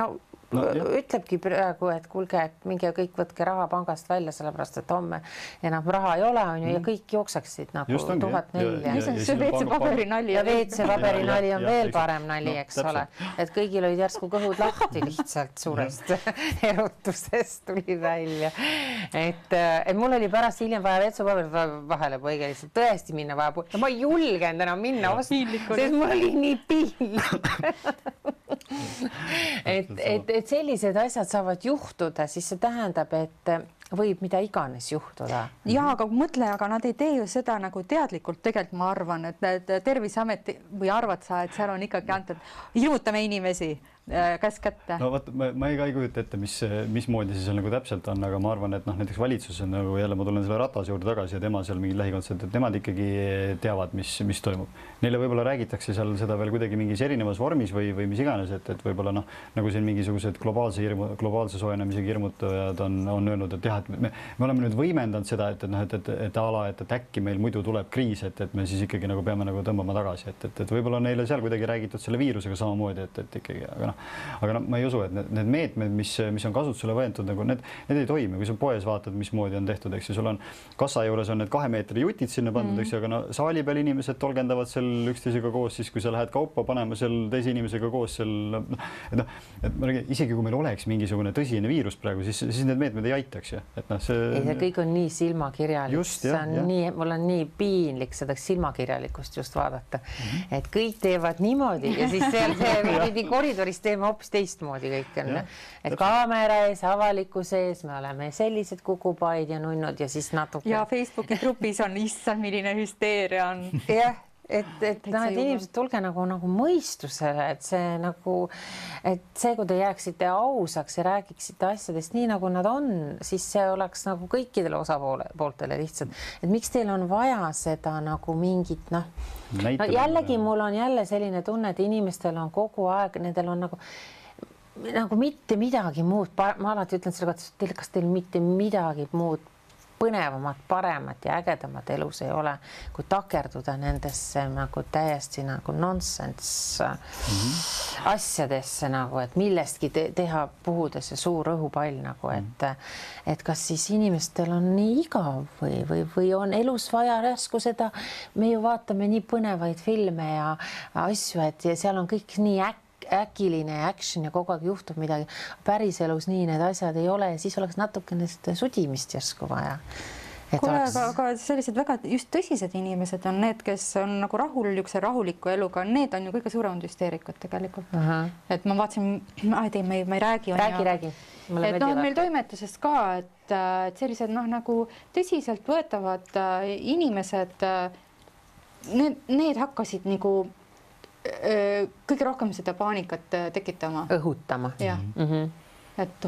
ütlebki praegu, et kuulge, et minge kõik võtke raha pangast välja, sellepärast, et homme enam raha ei ole, on ju, ja kõik jookseksid nagu 1004. See WC-paberi nali. Ja WC-paberi nali on veel parem nali, eks ole. Et kõigil olid järsku kõhud lahti lihtsalt suurest erutusest tuli välja. Et mul oli pärast hiljem vaja WC-paberi vahele poiga lihtsalt tõesti minna vaja. Ma ei julgenud enam minna osta, sest mul oli nii piinlik. et sellised asjad saavad juhtuda, siis see tähendab, et võib mida iganes juhtuda. Ja, aga mõtle, aga nad ei tee ju seda nagu teadlikult, tegelikult ma arvan, et Terviseamet või arvad sa, et seal on ikkagi antud, hirmutame inimesi käes kätte. No vaat, ma ei kujuta ette, mismoodi see seal nagu täpselt on, aga ma arvan, et näiteks valitsus on nagu jälle, ma tulen selle Ratase juurde tagasi ja tema seal mingi lähikondsed, et nemad ikkagi teavad, mis toimub. Neile võib-olla räägitakse seal seda veel kuidagi mingis erinevas vormis või mis iganes, et võib-olla nagu siin mingisugused globaalse soojenemisega hirmutajad on öelnud, et jah, et me oleme nüüd võimendanud seda, et äkki meil muidu tuleb kriis, et me siis ikkagi nagu peame nagu tõmbama tagasi, et võib-olla neile seal kuidagi räägitud selle viirusega samamoodi, et ikkagi, aga ma ei usu, et need meetmed, mis on kasutusele võetud, nagu need ei toimi, kui sa poes vaatad, mismoodi on tehtud, eks ju, sul on kassa juures on need 2 meetri jutid sinna pandud, eks ju, aga saali peal inimesed tolgendavad seal üksteisega koos, siis kui sa lähed kaupa panema seal teise inimesega koos seal, et ma räägin, isegi kui meil oleks mingisugune tõsine viirus praegu, siis need meetmed ei aitaks, et see kõik on nii silmakirjalik, mul on nii piinlik seda silmakirjalikust just vaadata, et kõik teevad niimoodi ja siis see koridoris teeme hoopis teistmoodi kõik on. Et kaamera ees, avalikkuse ees, me oleme sellised kukupaid ja nunnud ja siis natuke. Ja Facebooki grupis on issand, milline hüsteeria on. Jah, et inimesed tulge nagu mõistusele, et see, kui te jääksite ausaks ja räägiksite asjadest nii, nagu nad on, siis see oleks nagu kõikidele osapooltele lihtsalt. Et miks teil on vaja seda nagu mingit, jällegi mul on jälle selline tunne, et inimestel on kogu aeg, nendel on nagu mitte midagi muud. Ma alati ütlen selle kohta, kas teil mitte midagi muud põnevamat, paremat ja ägedamat elus ei ole, kui takerduda nendesse nagu täiesti nagu nonsense asjadesse nagu, et millestki teha puhudesse suur õhupall nagu, et kas siis inimestel on nii igav või on elus vaja järsku seda, me ju vaatame nii põnevaid filme ja asju, et ja seal on kõik nii äkiline action ja kogu aeg juhtub midagi. Päriselus nii need asjad ei ole ja siis oleks natukene sudimist järsku vaja. Aga sellised väga just tõsised inimesed on need, kes on nagu rahuliku eluga, need on ju kõige suuremad hüsteerikud tegelikult. Et ma vaatasin, ma ei räägi. Räägi. Et meil toimetusest ka, et sellised nagu tõsiselt võetavad inimesed, need hakkasid nagu kõige rohkem seda paanikat tekitama. Õhutama. Jah. Et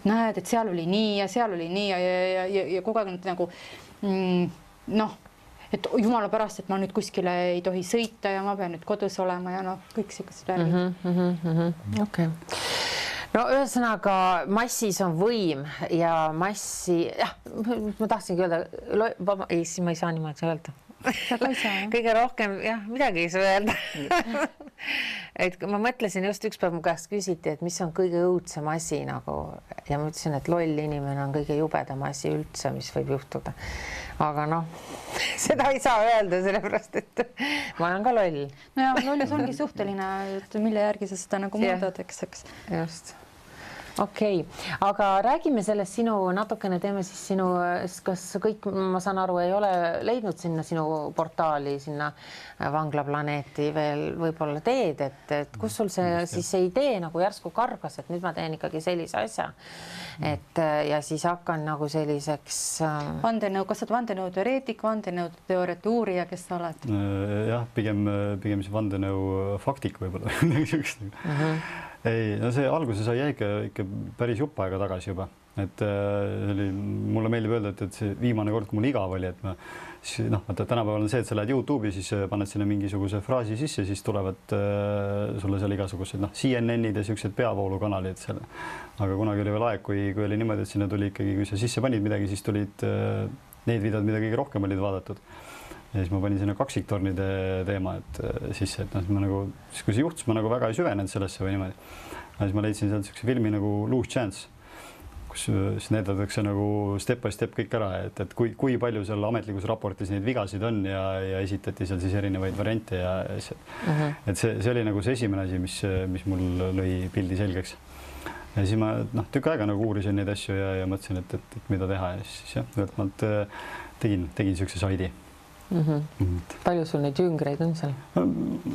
näed, et seal oli nii ja seal oli nii ja kogu aeg nagu et jumala pärast, et ma nüüd kuskile ei tohi sõita ja ma pean nüüd kodus olema ja kõik sellised värgid. Okay. No ühesõnaga massis on võim ja massi, ma tahtsingi öelda, siis ma ei saa niimoodi öelda. Kõige rohkem, midagi ei saa öelda. Et ma mõtlesin just üks päev mu käest küsiti, et mis on kõige õudsem asi nagu ja ma ütlesin, et loll inimene on kõige jubedam asi üldse, mis võib juhtuda. Aga seda ei saa öelda, sellepärast, et ma olen ka loll. No ja lollus ongi suhteline, mille järgi sa seda nagu mõõdad, eks. Just. Okei, aga räägime sellest natukene teeme siis kas kõik, ma saan aru, ei ole leidnud sinna sinu portaali, sinna Vanglaplaneeti veel võib-olla teed, et kus sul see idee nagu järsku kargas, et nüüd ma teen ikkagi sellise asja, ja siis hakkan nagu selliseks... Vandenõu, kas sa oled vandenõu teoreetik, vandenõu teooriate uurija, kes sa oled? Jah, pigem see vandenõu faktik võib-olla. Ei, see alguse sai ikka päris jupp aega tagasi juba, et mulle meeldib öelda, et see viimane kord, kui mul igav oli, et tänapäeval on see, et sa lähed YouTube'i, siis paned sinna mingisuguse fraasi sisse, siis tulevad sulle seal igasugused CNN-id ja sellised peavoolukanalid seal. Aga kunagi oli veel aeg, kui oli niimoodi, et sinna tuli ikkagi, kui sa sisse panid midagi, siis tulid need videod, mida kõige rohkem olid vaadatud. Ja siis ma panin sinna kaksiktornide teema sisse, et kui see juhtus, ma nagu väga ei süvenenud sellesse või niimoodi. siis ma leidsin sealt niisuguse filmi nagu Loose Chance, kus siis näidatakse nagu step by step kõik ära, et kui palju seal ametlikus raportis neid vigasid on ja esitati seal siis erinevaid variante ja et see oli nagu see esimene asi, mis mul lõi pildi selgeks. Ja siis ma tükk aega nagu uurisin neid asju ja mõtlesin, et mida teha ja siis jah, ühelt maalt tegin niisuguse saidi. Palju sul neid jüngreid on seal?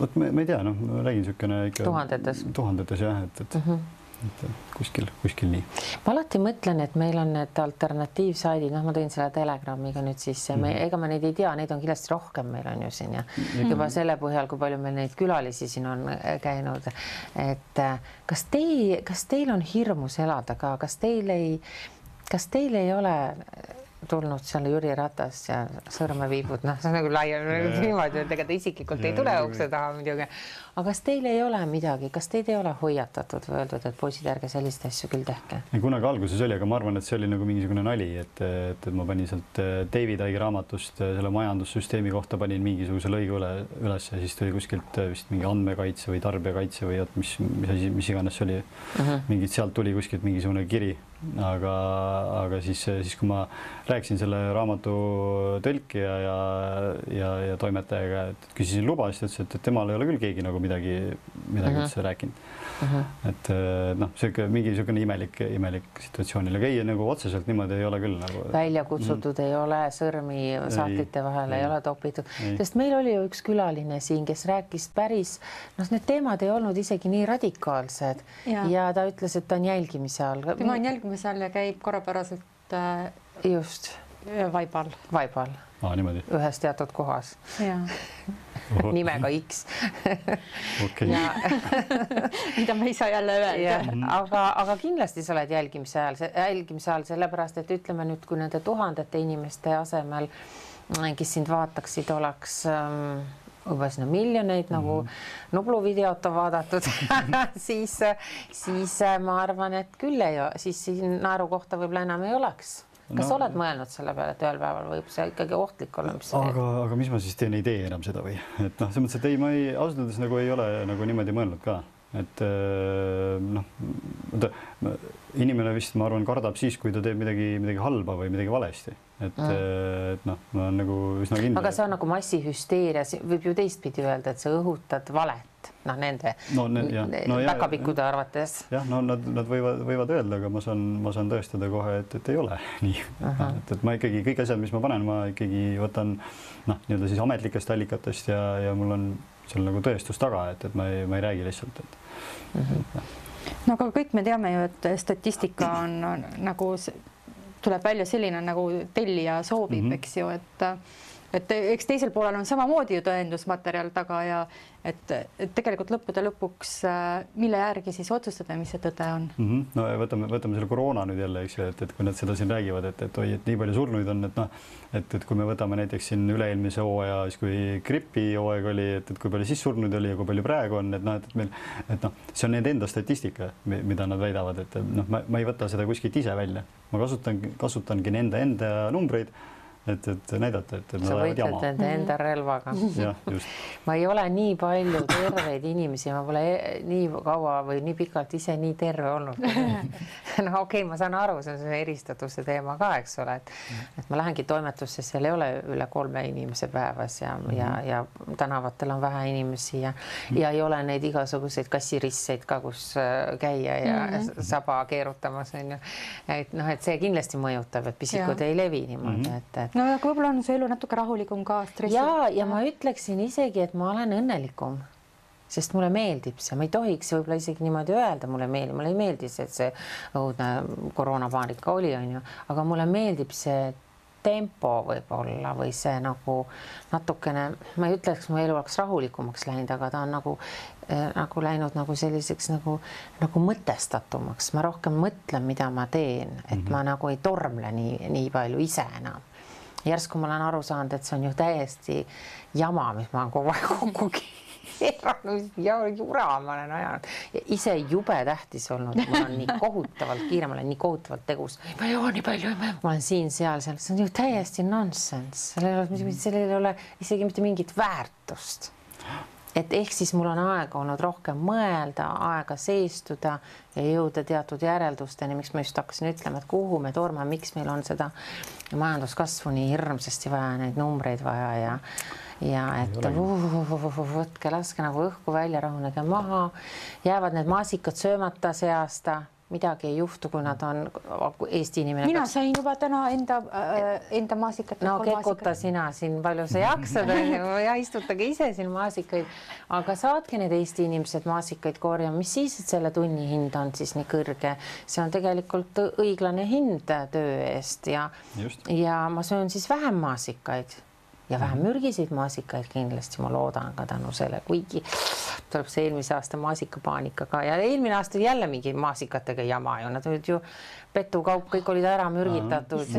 Vot ma ei tea, ma räägin niisugune ikka tuhandetes jah, et kuskil nii. Ma alati mõtlen, et meil on need alternatiivsaidid, ma tõin selle Telegramiga nüüd sisse, ega ma neid ei tea, neid on kindlasti rohkem, meil on ju siin ja juba selle põhjal, kui palju meil neid külalisi siin on käinud, et kas teil on hirmus elada ka, kas teil ei ole tulnud seal Jüri Ratas ja sõrme viibud, see on nagu laiem niimoodi, et ega ta isiklikult ei tule ukse taha muidugi. Aga kas teil ei ole midagi, kas teid ei ole hoiatatud või öeldud, et poisid, ärge sellist asju küll tehke? Kunagi alguses oli, aga ma arvan, et see oli nagu mingisugune nali, et ma panin sealt David Icke raamatust selle majandussüsteemi kohta panin mingisuguse lõigu üles ja siis tuli kuskilt vist mingi andmekaitse või tarbijakaitse või mis iganes see oli. Mingid sealt tuli kuskilt mingisugune kiri. Aga siis kui ma rääkisin selle raamatu tõlkija ja toimetajaga, et küsisin luba, siis ta ütles, et temal ei ole küll keegi nagu midagi üldse rääkinud. Et mingi niisugune imelik situatsioonil, aga ei nagu otseselt niimoodi ei ole küll nagu. Välja kutsutud ei ole, sõrmi saatlite vahele ei ole topitud, sest meil oli ju üks külaline siin, kes rääkis päris, need teemad ei olnud isegi nii radikaalsed ja ta ütles, et ta on jälgimise all. Tema on jälgimise all ja käib korrapäraselt just vaibal. Niimoodi. Ühes teatud kohas. Nimega X. Mida ma ei saa jälle öelda. Aga kindlasti sa oled jälgimise all, sellepärast, et ütleme nüüd, kui nende tuhandete inimeste asemel, kes sind vaataksid, oleks juba sinna miljoneid nagu Nublu videot on vaadatud, siis ma arvan, et küll siis siin naeru kohta võib-olla enam ei oleks. Kas oled mõelnud selle peale, et ühel päeval võib see ikkagi ohtlik olla? Aga mis ma siis teen, ei tee enam seda või? Et see mõttes, et ma ausalt öeldes nagu ei ole nagu niimoodi mõelnud ka. Et inimene vist, ma arvan, kardab siis, kui ta teeb midagi halba või midagi valesti. Ma on nagu üsna kindel. Aga see on nagu massihüsteeria, võib ju teistpidi öelda, et sa õhutad valet, nende päkapikkude arvates. Jah, nad võivad öelda, aga ma saan tõestada kohe, et ei ole nii. Et ma ikkagi kõik asjad, mis ma panen, ma ikkagi võtan nii-öelda siis ametlikest allikatest ja mul on seal nagu tõestus taga, et ma ei räägi lihtsalt. No aga kõik me teame ju, et statistika on nagu, tuleb välja selline nagu tellija soovib, eks ju, et eks teisel poolel on samamoodi ju tõendusmaterjal taga ja et tegelikult lõppude lõpuks, mille järgi siis otsustada, mis see tõde on? No võtame selle koroona nüüd jälle, eks ju, et kui nad seda siin räägivad, et nii palju surnuid on, et kui me võtame näiteks siin üle-eelmise hooaja, siis kui gripi hooaeg oli, et kui palju siis surnuid oli ja kui palju praegu on, et see on nende enda statistika, mida nad väidavad, et ma ei võta seda kuskilt ise välja. Ma kasutangi nende enda numbreid, et näidata, et sa võitled enda relvaga. Ma ei ole nii palju terveid inimesi, ma pole nii kaua või nii pikalt ise nii terve olnud. Okei, ma saan aru, see on see eristatuse teema ka, eks ole, et ma lähengi toimetusse, seal ei ole üle 3 inimese päevas ja tänavatel on vähe inimesi ja ei ole neid igasuguseid kassirisseid ka, kus käia ja saba keerutamas on ju. Et see kindlasti mõjutab, et pisikud ei levi niimoodi, et no aga võib-olla on see elu natuke rahulikum ka stressi. Ja ma ütleksin isegi, et ma olen õnnelikum, sest mulle meeldib see. Ma ei tohiks võib-olla isegi niimoodi öelda, mulle ei meeldi see, et see õudne koroonapaanika oli, on ju, aga mulle meeldib see tempo võib-olla või see nagu natukene, ma ei ütleks, mu elu oleks rahulikumaks läinud, aga ta on nagu läinud nagu selliseks nagu mõtestatumaks. Ma rohkem mõtlen, mida ma teen, et ma nagu ei tormle nii palju ise enam. Järsku ma olen aru saanud, et see on ju täiesti jama, mis ma olen kogu aeg kokku keeranud ja jura ma olen ajanud. Ja ise jube tähtis olnud, ma olen nii kohutavalt kiire, ma olen nii kohutavalt tegus. Ma ei joo nii palju, ma olen siin-seal, see on ju täiesti nonsense. Sellel ei ole isegi mitte mingit väärtust. et ehk siis mul on aega olnud rohkem mõelda, aega seistuda ja jõuda teatud järeldusteni, miks ma just hakkasin ütlema, et kuhu me tormame, miks meil on seda majanduskasvu nii hirmsasti vaja, neid numbreid vaja ja et võtke, laske nagu õhku välja, rahunege maha, jäävad need maasikad söömata see aasta, midagi ei juhtu, kui nad on Eesti inimene. Mina sain juba täna enda maasikat. No kekuta sina siin, palju sa jaksad ja istutage ise siin maasikaid, aga saadki need Eesti inimesed maasikaid korjama, mis siis, et selle tunni hind on siis nii kõrge. See on tegelikult õiglane hind töö eest ja ma söön siis vähem maasikaid ja vähem mürgiseid maasikaid kindlasti, ma loodan ka tänu selle, kuigi tuleb see eelmise aasta maasikapaanikaga ja eelmine aasta jälle mingi maasikatega jama ju, nad olid ju petukaup, kõik olid ära mürgitatud,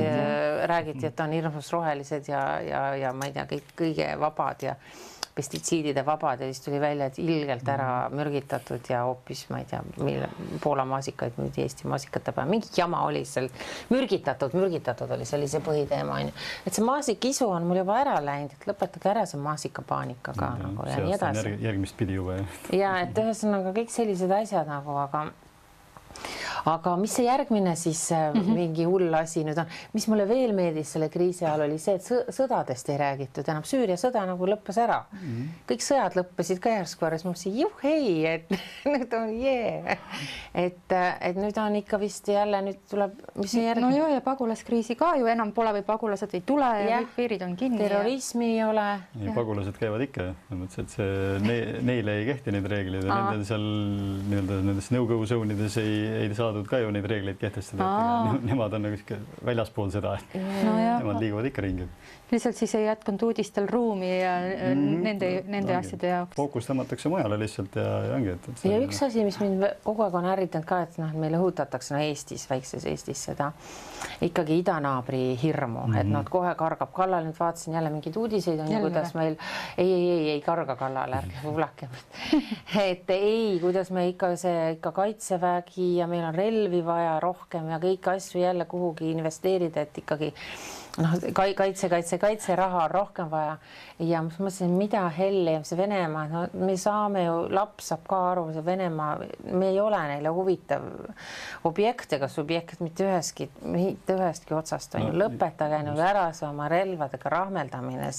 räägiti, et on hirmus rohelised ja ma ei tea, kõik kõige vabad ja pestitsiidide vabad ja siis tuli välja, et ilgelt ära mürgitatud ja hoopis, ma ei tea, Poola maasikaid müüdi Eesti maasikate peal. Mingi jama oli seal mürgitatud oli, see oli see põhiteema. Et see maasikisu on mul juba ära läinud, et lõpetage ära see maasikapaanika ka nagu ja nii edasi. Järgmist pidi juba. Ja, et ühesõnaga kõik sellised asjad nagu, aga mis see järgmine siis mingi hull asi nüüd on, mis mulle veel meeldis selle kriisi ajal oli see, et sõdadest ei räägitud enam. Süüria sõda nagu lõppes ära. Kõik sõjad lõppesid ka järsku ära, siis ma mõtlesin, juhhei, et nüüd on et nüüd on ikka vist jälle, nüüd tuleb, mis see järgmine? No joo, ja pagulaskriisi ka ju enam pole või pagulased ei tule ja kõik piirid on kinni. Terrorismi ei ole. Pagulased käivad ikka, et neile ei kehti neid reeglid ja nendel seal nendes nõukoguzoonides ei saadud ka ju neid reegleid kehtestada. Nemad on nagu väljaspool seda, et nemad liiguvad ikka ringi. Lihtsalt siis ei jätkunud uudistel ruumi ja nende asjade jaoks. Fookus tõmmatakse mujale lihtsalt ja ongi. Ja üks asi, mis mind kogu aeg on ärritanud ka, et meile õhutatakse Eestis, väikses Eestis seda ikkagi idanaabri hirmu, et nad kohe kargab kallal. Nüüd vaatasin jälle mingid uudiseid, kuidas meil ei karga kallal, ärge kuulake. Et ei, kuidas me ikka kaitsevägi ja meil on relvi vaja rohkem ja kõik asju jälle kuhugi investeerida, et ikkagi kaitse raha on rohkem vaja ja ma mõtlesin, mida helli see Venemaa, no me saame ju, laps saab ka aru, see Venemaa, me ei ole neile huvitav objekt ega subjekt mitte ühestki otsast on ju, lõpetage nüüd ära see oma relvadega rahmeldamine.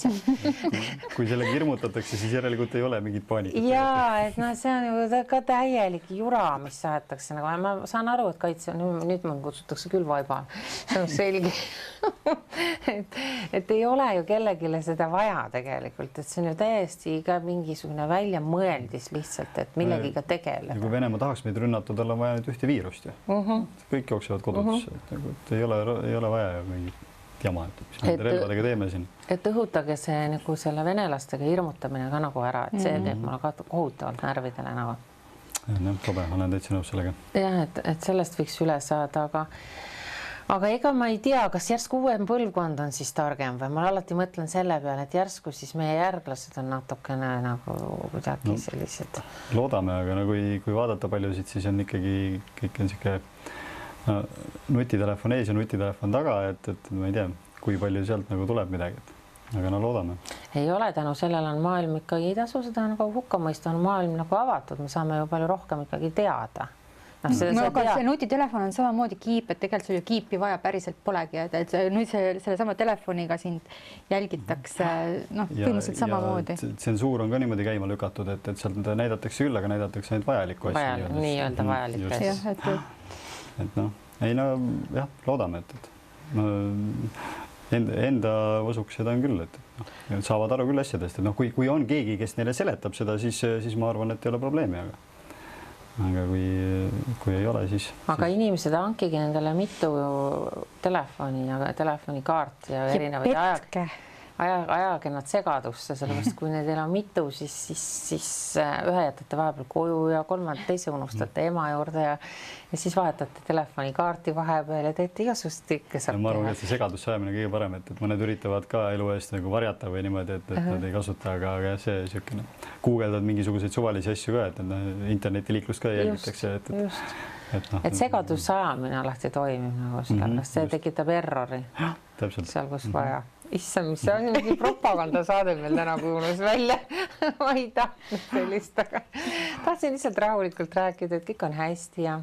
Kui sellega hirmutatakse, siis järelikult ei ole mingit paanikat. Jaa, et see on ju ka täielik jura, mis saetakse. Ma saan aru, et kaitse, nüüd ma kutsutakse küll vaiba. See on selge. Et ei ole ju kellegile seda vaja tegelikult, et see on ju täiesti ka mingisugune väljamõeldis lihtsalt, et millegiga tegeleda. Kui Venemaa tahaks meid rünnata, tal on vaja nüüd ühte viirust ja kõik jooksevad kodutusse, et ei ole vaja ju mingit jama, mis me relvadega teeme siin. Et õhutage see nagu selle venelastega hirmutamine ka nagu ära, et see teeb mulle ka kohutavalt närvidele nagu. Tobe, olen täitsa nõus sellega. Jah, et sellest võiks üle saada, aga ega ma ei tea, kas järsku uuem põlvkond on siis targem või ma alati mõtlen selle peale, et järsku siis meie järglased on natukene nagu kuidagi sellised. Loodame, aga kui vaadata paljusid, siis on ikkagi kõik on siuke nutitelefon ees ja nutitelefon taga, et ma ei tea, kui palju sealt nagu tuleb midagi, aga loodame. Ei ole, tänu sellele on maailm ikkagi ei tasu seda nagu hukka mõista, on maailm nagu avatud, me saame ju palju rohkem ikkagi teada. See nutitelefon on samamoodi kiip, et tegelikult sul ju kiipi vaja päriselt polegi, et nüüd selle sama telefoniga sind jälgitakse põhimõtteliselt samamoodi. Tsensuur on ka niimoodi käima lükatud, et sealt näidatakse küll, aga näidatakse ainult vajalikku asju. Nii-öelda vajalikku asju. Jah, loodame, et enda usuks seda on küll, et saavad aru küll asjadest, et kui on keegi, kes neile seletab seda, siis ma arvan, et ei ole probleemi, aga kui ei ole, siis... Aga inimesed hankigi nendele mitu telefoni ja telefonikaart ja erinevaid ajage nad segadusse, sellepärast kui neil on mitu, siis ühe jätate vahepeal koju ja teise unustate ema juurde ja siis vahetate telefonikaarti vahepeal ja teete igasugust kõike. Ma arvan, et see segadusse ajamine kõige parem, et mõned üritavad ka elu eest nagu varjata või niimoodi, et nad ei kasuta, aga see siukene guugeldad mingisuguseid suvalisi asju ka, et internetiliiklust ka jälgitakse. Et segadus ajamine alati toimib nagu sellepärast, see tekitab errori seal, kus vaja. issand, mis see on, mingi propagandasaade meil täna kuulus välja. Ma ei tahtnud sellist, aga tahtsin lihtsalt rahulikult rääkida, et kõik on hästi ja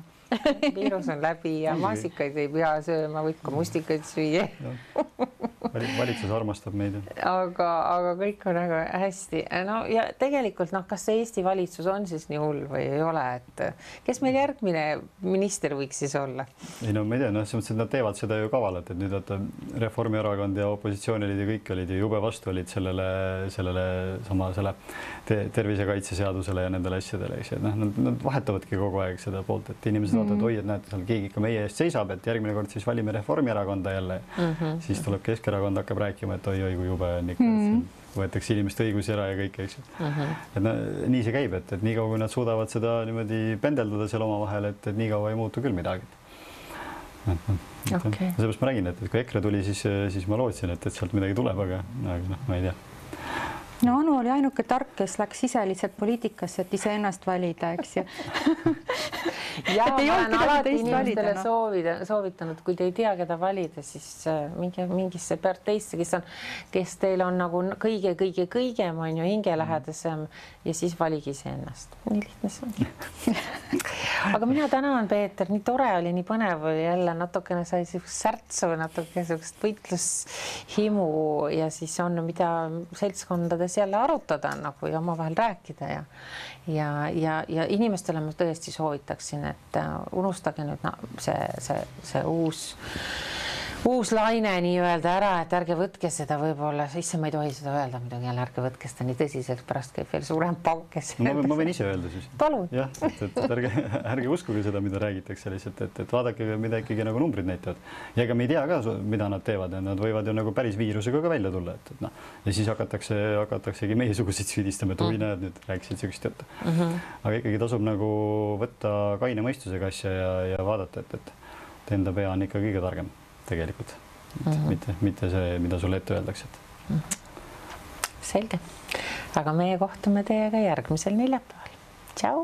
viirus on läbi ja maasikaid ei pea sööma, võib ka mustikaid süüa. Valitsus armastab meid. Aga kõik on väga hästi. No ja tegelikult, kas see Eesti valitsus on siis nii hull või ei ole, et kes meil järgmine minister võiks siis olla? Ei no ma ei tea, selles mõttes, et nad teevad seda ju kavalalt, et nüüd vaata Reformierakond ja opositsioonilid ja kõik olid ju jube vastu olid selle tervisekaitseseadusele ja nendele asjadele, eks. Nad vahetavadki kogu aeg seda poolt, et inimesed vaatavad, oi, et näete, seal keegi ikka meie eest seisab, et järgmine kord siis valime Reformierakonda jälle. Siis tuleb Keskerakond hakkab rääkima, et oi, kui jube on ikka, võetakse inimeste õigusi ära ja kõik, eks. Et nii see käib, et nii kaua, kui nad suudavad seda niimoodi pendeldada seal oma vahel, et nii kaua ei muutu küll midagi. Seepärast ma räägin, et kui EKRE tuli, siis ma lootsin, et sealt midagi tuleb, aga ma ei tea. No Anu oli ainuke tark, kes läks ise lihtsalt poliitikasse, et ise ennast valida, eks ju. Ja ma olen alati inimestele soovitanud, kui te ei tea, keda valida, siis mingisse parteisse, kes teil on nagu kõige-kõigem on ju hingelähedasem ja siis valigi see ennast. Nii lihtne see on. Aga mina tänan, Peeter, nii tore oli, nii põnev oli jälle, natukene sai särtsu, natuke sellist võitlushimu ja siis on, mida seltskondades jälle arutada nagu ja omavahel rääkida ja inimestele ma tõesti soovitaksin, et unustage nüüd see uus laine nii-öelda ära, et ärge võtke seda võib-olla, isse ma ei tohi seda öelda, midagi jälle ärge võtke seda nii tõsiselt, pärast käib veel suurem paukes. Ma võin ise öelda siis. Palun. Jah, et ärge uskuge seda, mida räägitakse lihtsalt, et vaadake, mida ikkagi nagu numbrid näitavad. Ja ega me ei tea ka, mida nad teevad ja nad võivad ju nagu päris viirusega ka välja tulla. Ja siis hakataksegi meiesuguseid süüdistama, et oi näed, nüüd rääkisid sellist juttu. Aga ikkagi tasub nagu võtta kaine mõistusega asja ja vaadata, et enda pea on ikka kõige targem. Tegelikult, mitte see, mida sulle ette öeldakse. Selge. Aga meie kohtume teiega järgmisel neljapäeval. Tšau!